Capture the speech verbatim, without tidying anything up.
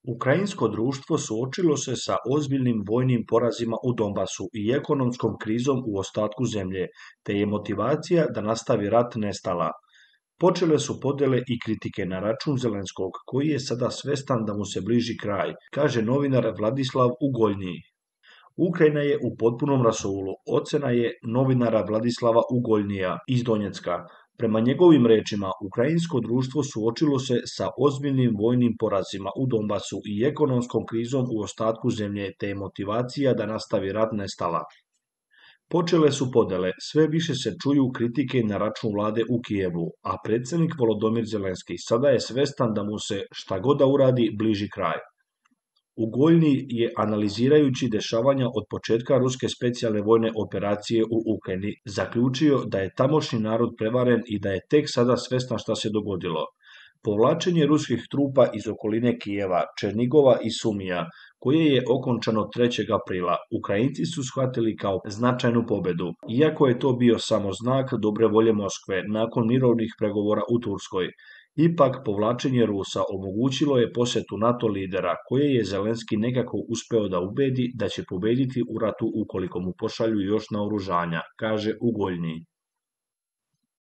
Ukrajinsko društvo suočilo se sa ozbiljnim vojnim porazima u Donbasu i ekonomskom krizom u ostatku zemlje, te je motivacija da nastavi rat nestala. Počele su podjele i kritike na račun Zelenskog, koji je sada svestan da mu se bliži kraj, kaže novinar Vladislav Ugoljniji. Ukrajina je u potpunom rasulu, ocena je novinara Vladislava Ugoljnija iz Donjecka. Prema njegovim rečima, ukrajinsko društvo suočilo se sa ozbiljnim vojnim porazima u Donbasu i ekonomskom krizom u ostatku zemlje, te je motivacija da nastavi rat nestala. Počele su podele, sve više se čuju kritike na račun vlade u Kijevu, a predsjednik Volodymyr Zelenski sada je svestan da mu se šta god da uradi bliži kraj. Ugoljni je, analizirajući dešavanja od početka ruske specijalne vojne operacije u Ukrajini, zaključio da je tamošnji narod prevaren i da je tek sada svestan šta se dogodilo. Povlačenje ruskih trupa iz okoline Kijeva, Černigova i Sumija, koje je okončano trećeg aprila, Ukrajinci su shvatili kao značajnu pobedu, iako je to bio samo znak dobre volje Moskve nakon mirovnih pregovora u Turskoj. Ipak, povlačenje Rusa omogućilo je posjetu NATO lidera, koje je Zelenski nekako uspeo da ubedi da će pobediti u ratu ukoliko mu pošalju još naoružanja, kaže Ugoljniji.